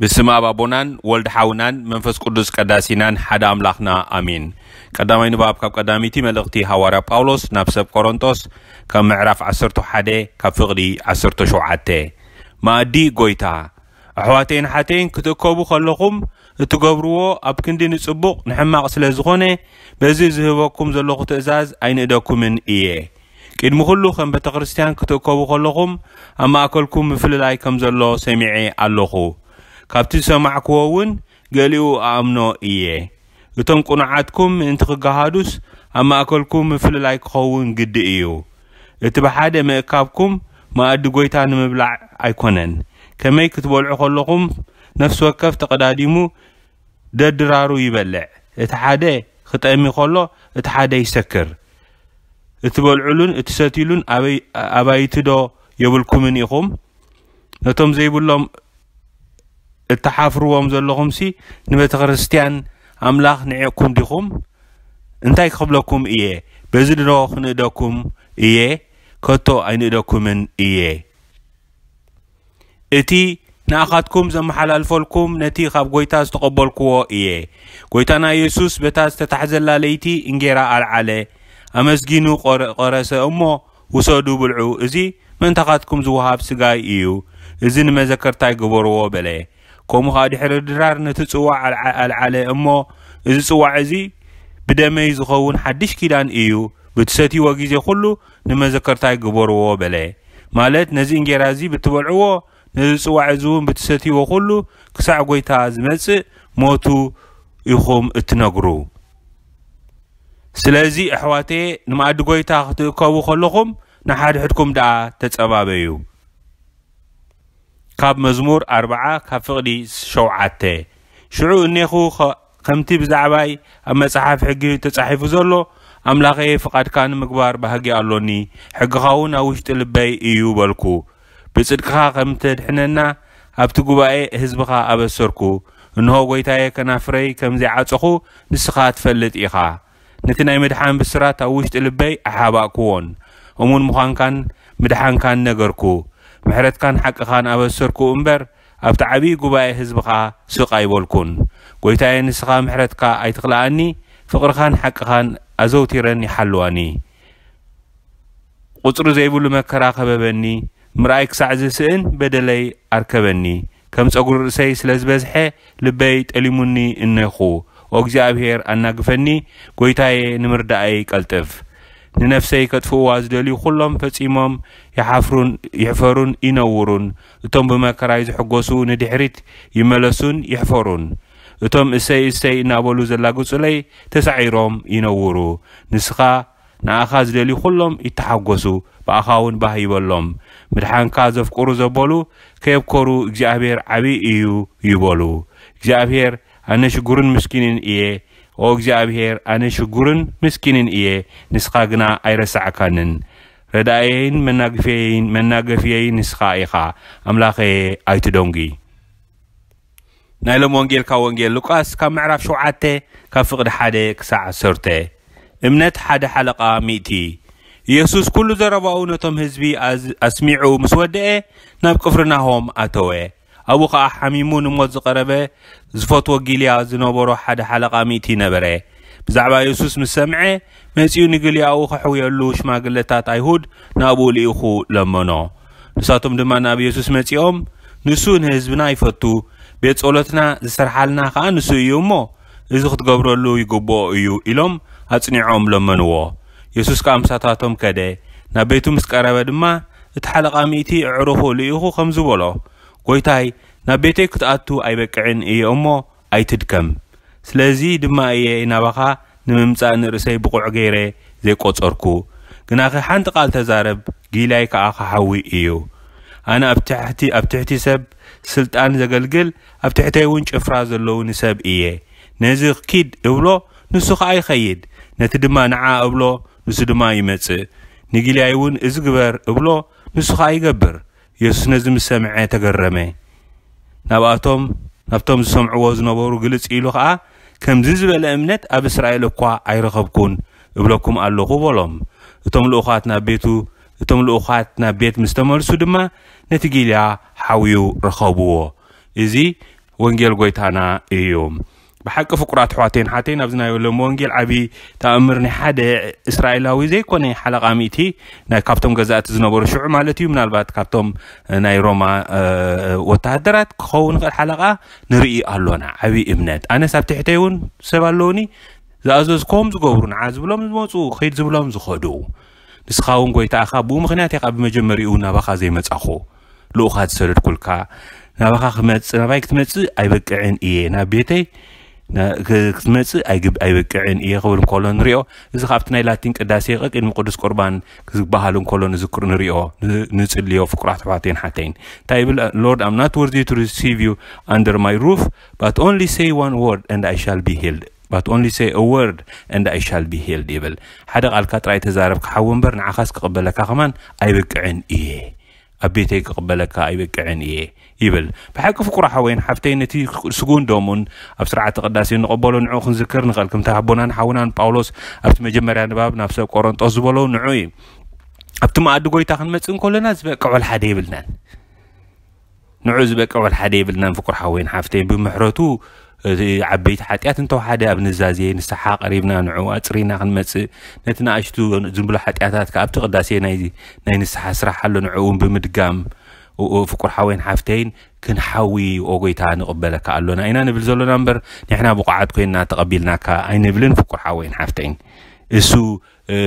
ብስም ኣብ ኣቦናን ወልድ ሓውናን መንፈስ ቅዱስ ቀዳሲናን ሓደ ኣምላኽና ኣሜን። ቀዳማይ ንባብ ካብ ቀዳሚቲ መልእኽቲ ሃዋርያ ጳውሎስ ናብ ሰብ ቆሮንጦስ ካብ ምዕራፍ ዓሰርተ ሓደ ካብ ፍቕዲ ዓሰርተ ሸውዓተ። መኣዲ ጎይታ። ኣሕዋተይን ሓተይን ክትእከቡ ከለኹም እትገብርዎ ኣብ ክንዲ ንጽቡቕ ንሕማቕ ስለ ዝኾነ በዚ ዝህበኩም ዘለኹ ትእዛዝ ኣይንእደኩምን እየ። ቅድሚ ኩሉ ከም ቤተ ክርስቲያን ክትእከቡ ከለኹም ኣብ ማእከልኩም ምፍልላይ ከም ዘሎ ሰሚዐ ኣለኹ። ካብቲ ዝሰማዕክዎ እውን ገሊኡ ኣኣምኖ እየ። እቶም ቅኑዓትኩም ምእንቲ ክገሃዱስ ኣብ ማእከልኩም ምፍልላይ ክኸውን ግዲ እዩ። እቲ ብሓደ ምእካብኩም መኣዲ ጎይታ ንምብላዕ ኣይኮነን። ከመይ ክትበልዑ ከለኹም ነፍሲ ወከፍ ተቐዳዲሙ ደድራሩ ይበልዕ። እቲ ሓደ ክጠሚ ከሎ እቲ ሓደ ይሰክር። እትበልዑሉን እትሰትዩሉን ኣበይ-፣ ኣባይቲ ዶ የብልኩምን ኢኹም? ነቶም ዘይብሎም እትሓፍርዎም ዘለኹምሲ ንቤተ ክርስቲያን ኣምላኽ ንዒቕኩም ዲኹም? እንታይ ክብለኩም እየ? በዚ ድሮ ክንእደኩም እየ? ከቶ ኣይንእደኩምን እየ። እቲ ንኣኻትኩም ዘመሓላልፈልኩም ነቲ ካብ ጎይታ ዝተቐበልክዎ እየ። ጎይታና የሱስ በታ ዝተታሕዘላ ለይቲ እንጌራ ኣልዓለ፣ ኣመስጊኑ ቆረ-፣ ቆረሰ እሞ፣ "ውሰዱ ብልዑ፣ እዚ ምእንታኻትኩም ዝወሃብ ስጋይ እዩ፣ እዚ ንመዘከርታይ ግበርዎ" በለ። ከምኡ ኸኣ ድሕሪ ድራር ነቲ ጽዋዕ ኣልዓ-፣ ኣልዓለ እሞ፣ "እዚ ጽዋዕ እዚ ብደመይ ዝኸውን ሓድሽ ኪዳን እዩ፣ ብትሰትይዎ ግዜ ኹሉ ንመዘከርታይ ግበርዎ" በለ። ማለት ነዚ እንጌራ እዚ ብትበልዕዎ፣ ነዚ ጽዋዕ እዚ እውን ብትሰትይዎ ኹሉ ክሳዕ ጎይታ ዝመጽእ ሞቱ ኢኹም እትነግሩ። ስለዚ ኣሕዋተየ ንመኣዲ ጎይታ ክትእከቡ ከለኹም ንሓድሕድኩም ደኣ ተጸባበዩ። ካብ መዝሙር ኣርብዓ ካብ ፍቕዲ ሸውዓተ። ሽዑ እኔኹ ኸ-፣ ከምቲ ብዛዕባይ ኣብ መጽሓፍ ሕጊ ተጻሒፉ ዘሎ፣ ኣምላኸየ ፍቓድካ ንምግባር ባህጊ ኣሎኒ፣ ሕግኻ እውን ኣብ ውሽጢ ልበይ እዩ በልኩ። ብጽድቅኻ ከም ተድሕነና ኣብቲ ጉባኤ ህዝብኻ ኣበሰርኩ። እንሆ ጎይታየ ከናፍረይ ከም ዘይዓጸኹ ንስኻ ትፈልጥ ኢኻ። ነቲ ናይ ምድሓን ብስራት ኣብ ውሽጢ ልበይ ኣሓባእክዎን፣ እሙን ምዃንካን ምድሓንካን ነገርኩ። ምሕረትካን ሓቅኻን ኣበሰርኩ እምበር፣ ኣብቲ ዓብዪ ጉባኤ ህዝብኻ ስቕ ኣይበልኩን። ጎይታየ፣ ንስኻ ምሕረትካ ኣይትኽልኣኒ፣ ፍቕርኻን ሓቅኻን ኣዘውቲረን ይሓልዋኒ። ቁጽሪ ዘይብሉ መከራ ከበበኒ፣ ምርኣይ ክሳዕ ዝስእን በደለይ ኣርከበኒ። ከም ጸጉሪ ርእሰይ ስለ ዝበዝሐ ልበይ ጠሊሙኒ እነኹ። ኦ እግዚኣብሔር ኣናግፈኒ፣ ጎይታየ ንምርዳኣይ ቀልጥፍ። ንነፍሰይ ከጥፍእዋ ዝደልዩ ኩሎም ፈጺሞም ይሓፍሩን ይሕፈሩን ይነውሩን። እቶም ብመከራይ ዝሕጎሱ ንድሕሪት ይመለሱን ይሕፈሩን። እቶም እሰይ እሰይ እናበሉ ዘላግጹለይ ተሳዒሮም ይነውሩ። ንስኻ ንኣኻ ዝደልዩ ኩሎም ይተሓጎሱ፣ ብኣኻ እውን ባህ ይበሎም። ምድሓንካ ዘፍቅሩ ዘበሉ ከየብከሩ እግዚኣብሔር ዓብዪ እዩ ይበሉ። እግዚኣብሔር ኣነ ሽጉርን ምስኪንን እየ፣ ኦ እግዚኣብሔር ኣነ ሽጉርን ምስኪንን እየ፣ ንስኻ ግና ኣይረሳዕካንን። ረዳእየይን መናግፍየይን፣ መናገፍየይን ንስኻ ኢኻ፣ ኣምላኸየ ኣይትደንጉይ። ናይ ሎም ወንጌል ካብ ወንጌል ሉቃስ ካብ ምዕራፍ ሸውዓተ ካብ ፍቕዲ ሓደ ክሳዕ ዓሰርተ። እምነት ሓደ ሓለቓ ሚእቲ። ኢየሱስ ኩሉ ዘረባኡ ነቶም ህዝቢ ኣዝ-፣ ኣስሚዑ ምስ ወደአ ናብ ቅፍርናሆም ኣተወ። ኣብኡ ኸኣ ሓሚሙ ንሞት ዝቐረበ ዝፈትዎ ጊልያ ዝነበሮ ሓደ ሓለቓ ሚእቲ ነበረ። ብዛዕባ የሱስ ምስ ሰምዐ መጺኡ ንጊልያኡ ከሕውየሉ ሽማግለታት ኣይሁድ ናብኡ ልኢኹ ለመኖ። ንሳቶም ድማ ናብ የሱስ መጺኦም፣ "ንሱ ንህዝብና ይፈቱ፣ ቤት ጸሎትና ዝሰርሓልና ከኣ ንሱ እዩ እሞ፣ እዚ ክትገብረሉ ይግብኦ እዩ" ኢሎም ኣጽኒዖም ለመንዎ። የሱስ ከኣ ምሳታቶም ከደ። ናብ ቤቱ ምስ ቀረበ ድማ እቲ ሓለቓ ሚእቲ ኣዕሩኹ ልኢኹ ከምዚ በሎ፣ "ጎይታይ፣ ናብ ቤተይ ክትኣቱ ኣይበቅዕን እየ እሞ ኣይትድከም። ስለዚ ድማ እየ ናባኻ ንምምጻእ ንርእሰይ ብቑዕ ገይረ ዘይቆጸርኩ። ግናኸ ሓንቲ ቃል ተዛረብ፣ ጊላይ ከኣ ክሓዊ እዩ። ኣነ ኣብ ትሕቲ፣ ኣብ ትሕቲ ሰብ ስልጣን ዘገልግል፣ ኣብ ትሕተይ እውን ጭፍራ ዘለውኒ ሰብ እየ። ነዚ ኪድ እብሎ፣ ንሱ ኸኣ ይኸይድ። ነቲ ድማ ንዓ እብሎ፣ ንሱ ድማ ይመጽእ። ንጊላይ እውን እዚ ግበር እብሎ፣ ንሱ ኸኣ ይገብር።" የሱስ ነዚ ምስ ሰምዐ ተገረመ። ናብኣቶም፣ ናብቶም ዝሰምዕዎ ዝነበሩ ግልጽ ኢሉ ኸኣ፣ "ከምዚ ዝበለ እምነት ኣብ እስራኤል እኳ ኣይረኸብኩን እብለኩም ኣለኹ" በሎም። እቶም ልኡኻት ናብ ቤቱ፣ እቶም ልኡኻት ናብ ቤት ምስ ተመልሱ ድማ ነቲ ጊልያ ሓውዩ ረኸብዎ። እዚ ወንጌል ጎይታና እዩ። ብሓቂ ፍቁራት ኣሕዋተይን ሓተይን፣ ኣብዚ ናይ ሎም ወንጌል ዓቢ ተኣምር ናይ ሓደ እስራኤላዊ ዘይኮነ ሓለቓ ሚእቲ፣ ናይ ካብቶም ገዛእቲ ዝነበሩ ሽዑ ማለት እዩ፣ ምናልባት ካብቶም ናይ ሮማ ወተሃደራት ክኸውን ይኽእል ሓለቓ፣ ንርኢ ኣሎና። ዓቢ እምነት። ኣነስ ኣብ ትሕተይ እውን ሰብ ኣለውኒ፣ ዝኣዘዝኮም ዝገብሩ፣ ንዓ ዝብሎም ዝመፁ፣ ኺድ ዝብሎም ዝኸዱ። ንስኻ እውን ጎይታ ኢኻ፣ ብኡ ምኽንያት ኢኻ ብመጀመሪኡ ናባኻ ዘይመጻኹ። ልኡኻት ዝሰደድኩልካ፣ ናባኻ ክመጽእ፣ ናባይ ክትመጽእ ኣይበቅዕን እየ፣ ናብ ቤተይ ና-፣ ክ-፣ ክትመጽእ ኣይግብ-፣ ኣይበቅዕን እየ ክብል እንከሎ ንሪኦ። እዚ ካብቲ ናይ ላቲን ቅዳሴ ቅድሚ ቅዱስ ቁርባን ዝበሃል እንከሎ ንዝክር ንሪኦ፣ ን-፣ ንጽልዮ ፍቁራት ኣሕዋተይን ሓተይን። እንታይ ይብል? Lord, I'm not worthy to receive you under my roof, but only say one word and I shall be healed. But only say a word and I shall be healed ይብል። ሓደ ቃልካ ጥራይ ተዛረብ ክሓዊ እምበር ንዓኻስ ክቕበለካ ከማን ኣይበቅዕን እየ። ኣብ ቤተይ ክቕበለካ ኣይበቅዕን እየ ይብል። ብሓቂ ፍቁር ሓወይን ሓፍተይ፣ ነቲ ስጉን ደሙን ኣብ ስርዓተ ቅዳሴ ንቐበሎ፣ ንዕኡ ክንዝክር ንኽእል። ከምቲ ኣቦናን ሓውናን ጳውሎስ ኣብቲ መጀመርያ ንባብ ናብ ሰብ ቆሮንጦስ ዝበሎ ንዑ እዩ። ኣብቲ መኣዲ ጎይታ ክንመጽእ እንከለና ዝበቅዕ ወላ ሓደ የብልናን። ንዑ ዝበቅዕ ወላ ሓደ የብልናን ፍቁር ሓወይን ሓፍተይን። ብምሕረቱ እቲ ዓበይቲ ሓጢኣት እንተወሓደ ኣብ ንዛዜ ንስሓ ቀሪብና ንዕኡ ኣጽሪና ክንመጽእ፣ ነቲ ንኣሽቱ ዝብሎ ሓጢኣታት ከኣ ኣብቲ ቅዳሴ ናይ፣ ናይ ንስሓ ስራሕ ኣሎ፣ ንዕኡ እውን ብምድጋም፣ ኦ፣ ኦ፣ ፍቁር ሓወይን ሓፍተይን ክንሓዊ፣ ኦ ጎይታ ንቕበለካ ኣሎና ኢና ንብል ዘሎና እምበር፣ ንሕና ብቑዓት ኮይንና ተቐቢልናካ ኣይንብልን ፍቁር ሓወይን ሓፍተይን። እሱ እ፣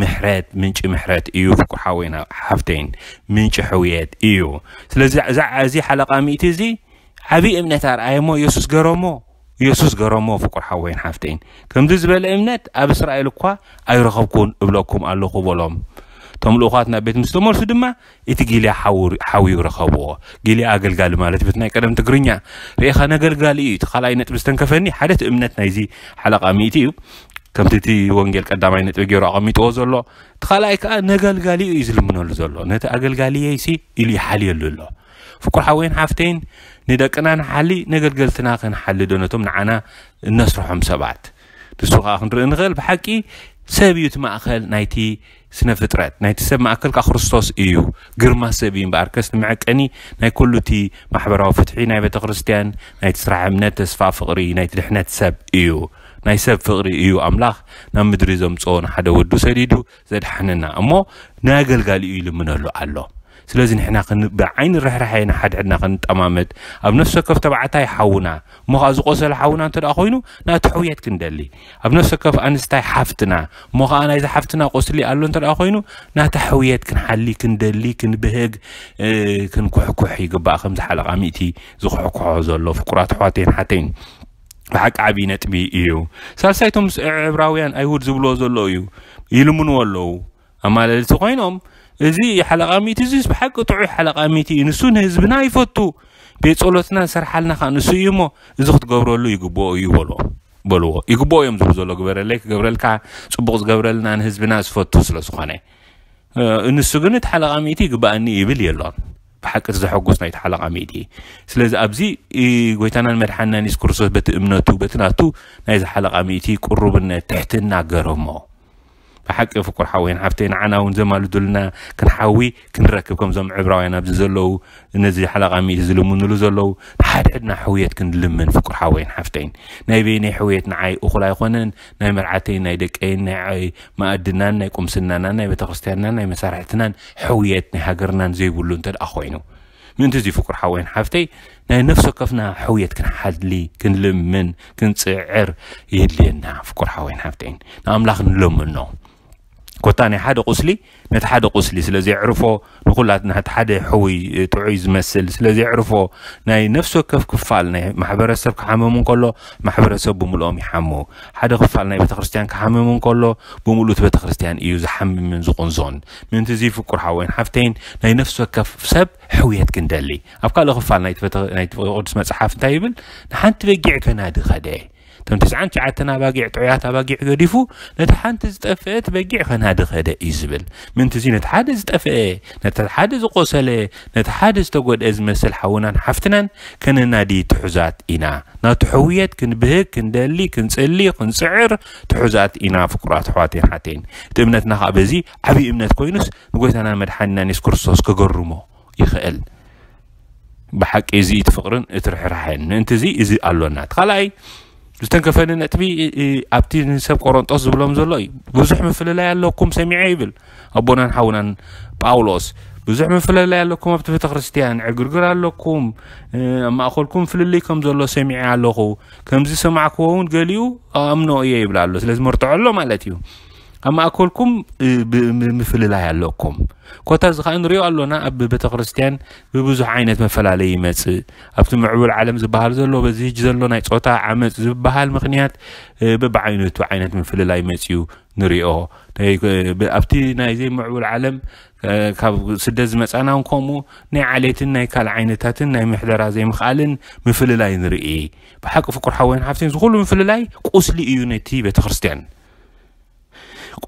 ምሕረት፣ ምንጪ ምሕረት እዩ ፍቁር ሓወይና ሓፍተይን፣ ምንጪ ሕውየት እዩ። ስለዚ እዛ፣ እዚ ሓለቓ ሚእቲ እዚ ዓብዪ እምነት ኣርኣየ እሞ የሱስ ገረሞ፣ የሱስ ገረሞ ፍቁር ሓወይን ሓፍተይን። ከምዚ ዝበለ እምነት ኣብ እስራኤል እኳ ኣይረኸብኩን እብለኩም ኣለኹ በሎም። እቶም ልኡኻት ናብ ቤት ምስ ተመልሱ ድማ እቲ ጊልያ ሓው-፣ ሓውዩ ረኸብዎ። ጊልያ ኣገልጋሊ ማለት እዩ፣ በቲ ናይ ቀደም ትግርኛ። ርኢኻ፣ ነገልጋሊ እዩ። እቲ ካልኣይ ነጥቢ ዝተንከፈኒ ሓደ እቲ እምነት ናይዚ ሓለቓ ሚእቲ እዩ። ከምቲ እቲ ወንጌል ቀዳማይ ነጥቢ ገይሩ ኣቐሚጥዎ ዘሎ፣ እቲ ካልኣይ ከኣ ነገልጋሊኡ እዩ ዝልምነሉ ዘሎ። ነቲ ኣገልጋሊየይሲ ኢሉ ይሓልየሉ ኣሎ። ፍቁር ሓወይን ሓፍተይን፣ ንደቅና ንሓሊ፣ ነገልገልትና ክንሓሊ ዶ ነቶም ንዓና እነስርሖም ሰባት? ንሱ ከኣ ክንርኢ ንኽእል። ብሓቂ ሰብ እዩ እቲ ማእከል ናይቲ ስነ ፍጥረት፣ ናይቲ ሰብ ማእከል ከኣ ክርስቶስ እዩ። ግርማ ሰብ እዩ እምበኣርከስ፣ እቲ መዐቀኒ ናይ ኩሉ እቲ ማሕበራዊ ፍትሒ ናይ ቤተ ክርስትያን፣ ናይቲ ስራሕ እምነት፣ ተስፋ፣ ፍቕሪ፣ ናይቲ ድሕነት ሰብ እዩ። ናይ ሰብ ፍቕሪ እዩ ኣምላኽ ናብ ምድሪ ዘምጽኦ፣ ንሓደ ወዱ ሰዲዱ ዘድሓነና። እሞ ንኣገልጋሊኡ ይልምነሉ ኣሎ። ስለዚ ንሕና ክን-፣ ብዓይኒ ርሕራሐ ንሓድሕድና ክንጠማመት፣ ኣብ ነፍሲ ወከፍ ተባዕታይ ሓውና፣ እሞ ኸኣ ዝቖሰለ ሓውና እንተ ደኣ ኮይኑ፣ ናቱ ሕውየት ክንደሊ፣ ኣብ ነፍሲ ወከፍ ኣንስታይ ሓፍትና፣ እሞ ኸኣ ናይዚ ሓፍትና ቁስሊ ኣሎ እንተ ደኣ ኮይኑ፣ ናታ ሕውየት ክንሓሊ፣ ክንደሊ፣ ክንብህግ፣ እ፣ ክንኩሕኩሕ ይግባእ። ከምዚ ሓለቓ ሚእቲ ዝኩሕኩሖ ዘሎ ፍቁራት ኣሕዋተይን ሓተይን። ብሓቂ ዓብዪ ነጥቢ እዩ። ሳልሳይ፣ እቶም ምስ ዕብራውያን ኣይሁድ ዝብልዎ ዘለዉ እዩ። ይልምንዎ ኣለዉ። ኣማለልቲ ኮይኖም፣ እዚ ሓለቓ ሚእቲ እዚስ ብሓቂ ጥዑይ ሓለቓ ሚእቲ እዩ። ንሱ ንህዝብና ይፈቱ። ቤት ጸሎትና ዝሰርሓልና ከኣ ንሱ እዩ እሞ፣ እዚ ክትገብረሉ ይግብኦ እዩ በልዎ፣ በልዎ። ይግብኦ እዮም ዝብሉ ዘለዉ። ግበረለይ፣ ክገብረልካ፣ ጽቡቕ ዝገብረልና ንህዝብና ዝፈቱ ስለ ዝኾነ። እ፣ ንሱ ግን እቲ ሓለቓ ሚእቲ ይግብኣኒ ይብል የሎን። ብሓቂ እቲ ዘሐጉስ ናይቲ ሓለቓ ሚእቲ። ስለዚ ኣብዚ፣ እ፣ ጎይታናን መድሓንናን የሱስ ክርስቶስ በቲ እምነቱ፣ በቲ ናቱ ናይዚ ሓለቓ ሚእቲ ቅሩብነት፣ ትሕትና ገረሞ። ብሓቂ ፍቁር ሓወይን ሓፍተይ፣ ንዓና እውን ዘማልዱልና ክንሓዊ ክንረክብ፣ ከምዞም ዕብራውያን ኣብዚ ዘለዉ፣ ነዚ ሓለቓ ሚእቲ ዝልምኑሉ ዘለዉ፣ ንሓድሕድና ሕውየት ክንልምን ፍቁር ሓወይን ሓፍተይን። ናይ በይነይ ሕውየት ንዓይ እኹል ኣይኮነን፣ ናይ መርዓተይን ናይ ደቀይን ናይ ዓይ-፣ መኣድናን ናይ ቁምስናናን ናይ ቤተክርስትያንናን ናይ መሳርሕትናን ሕውየት ናይ ሃገርናን ዘይብሉ እንተ ደኣ ኮይኑ። ምእንቲ እዚ ፍቁር ሓወይን ሓፍተይ፣ ናይ ነፍሲ ወከፍና ሕውየት ክንሓሊ፣ ክንልምን፣ ክንጽዕር የድልየና። ፍቁር ሓወይን ሓፍተይን፣ ንኣምላኽ ንለምኖ። ኮታ ናይ ሓደ ቁስሊ ነቲ ሓደ ቁስሊ ስለ ዘየዕርፎ፣ ንኹላትና እቲ ሓደ ሕውይ፣ ጥዑይ ዝመስል ስለ ዘየዕርፎ፣ ናይ ነፍሲ ወከፍ ክፋል ናይ ማሕበረሰብ ክሓመሙ እንከሎ፣ ማሕበረሰብ ብምልኦም ይሓሙ። ሓደ ክፋል ናይ ቤተክርስትያን ክሓምም እንከሎ፣ ብምሉእ እቲ ቤተክርስትያን እዩ ዝሓምምን ዝቕንዞን። ምእንቲ እዚ ፍቁር ሓወይን ሓፍተይን፣ ናይ ነፍሲ ወከፍ ሰብ ሕውየት ክንደሊ። ኣብ ካልእ ክፋል ናይቲ ቤተ-፣ ናይቲ ቅዱስ መጽሓፍ እንታይ ይብል? ንሓንቲ በጊዕ ከናዲ ኸደ። እተን ትስዓን ትሽዓተን ኣባጊዕ፣ ጥዑያት ኣባጊዕ ገዲፉ፣ ነቲ ሓንቲ ዝጠፍአት በጊዕ ከናዲ ኸደ እዩ ዝብል። ምእንቲ እዚ ነቲ ሓደ ዝጠፍአ፣ ነቲ ሓደ ዝቖሰለ፣ ነቲ ሓደ ዝተጎድአ ዝመስል ሓውናን ሓፍትናን ከነናዲ ትሑዛት ኢና። ናቱ ሕውየት ክንብህግ፣ ክንደሊ፣ ክንጽሊ፣ ክንጽዕር ትሑዛት ኢና፣ ፍቁራት ኣሕዋተይን ሓተይን። እቲ እምነትና ኸኣ በዚ ዓብዪ እምነት ኮይኑስ፣ ንጎይታናን መድሓኒናን የሱስ ክርስቶስ ክገርሞ ይኽእል። ብሓቂ እዚ እቲ ፍቕርን እቲ ርሕራሕን ምእንቲ እዚ እዚ ኣሎና። እቲ ካልኣይ ዝተንከፈኒ ነጥቢ ኣብቲ ንሰብ ቆሮንጦስ ዝብሎም ዘሎ እዩ። ብዙሕ ምፍልላይ ኣለኩም ሰሚዐ ይብል ኣቦናን ሓውናን ጳውሎስ። ብዙሕ ምፍልላይ ኣለኩም ኣብቲ ቤተ ክርስቲያን፣ ዕግርግር ኣለኩም፣ ኣብ ማእኸልኩም ፍልልይ ከም ዘሎ ሰሚዐ ኣለኹ። ከምዚ ሰማዕክዎ እውን ገሊኡ ኣምኖ እየ ይብል ኣሎ። ስለዚ መርትዖ ኣሎ ማለት እዩ። ኣብ ማእከልኩም ምፍልላይ ኣለኩም። ኮታ እዚ ከዓ ንሪኦ ኣሎና ኣብ ቤተ ክርስቲያን ብብዙሕ ዓይነት መፈላለይ ይመፅእ። ኣብቲ ምዕቡል ዓለም ዝበሃል ዘሎ በዚ ህጂ ዘሎ ናይ ፆታ ዓመፅ ዝበሃል ምክንያት በብዓይነቱ ዓይነት ምፍልላይ መፅዩ ንሪኦ። ኣብቲ ናይ ዘይምዕቡል ዓለም ካብ ስደት ዝመፃና እውን ከምኡ ናይ ዓሌትን ናይ ካልእ ዓይነታትን ናይ ምሕደራ ዘይምኽኣልን ምፍልላይ ንርኢ። ብሓቂ ፍቁር ሓወይን ሓፍተይን ዝኩሉ ምፍልላይ ቁስሊ እዩ ነቲ ቤተ ክርስቲያን።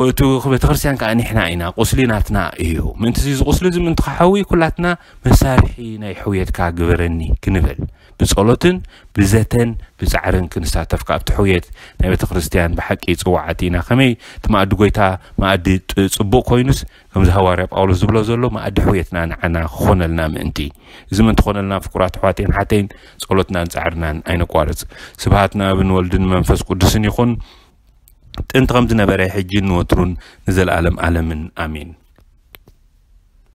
እቲ ቤተክርስትያን ከዓ ንሕና ኢና፣ ቁስሊ ናትና እዩ። ምእንቲ እዚ ቁስሊ እዚ ምእንቲ ክሓዊ ኩላትና መሳርሒ ናይ ሕውየትካ ግበረኒ ክንብል ብጸሎትን ብዘተን ብጻዕርን ክንሳተፍ ካብቲ ሕውየት ናይ ቤተክርስትያን ብሓቂ ጽዋዓት ኢና። ከመይ እቲ መኣዲ ጎይታ መኣዲ ጽቡቕ ኮይኑስ ከምዚ ሃዋርያ ጳውሎስ ዝብሎ ዘሎ መኣዲ ሕውየትና ንዓና ክኾነልና ምእንቲ። እዚ ምእንቲ ኮነልና ፍቁራት ኣሕዋተይን ሓተይን ጸሎትናን ጻዕርናን ኣይነቋርጽ። ስብሃት ንኣብን ወልድን መንፈስ ቅዱስን ይኹን። ጥንቲ ከም ዝነበረ ሕጂ ንወትሩን ንዘለኣለም ኣለምን ኣሜን።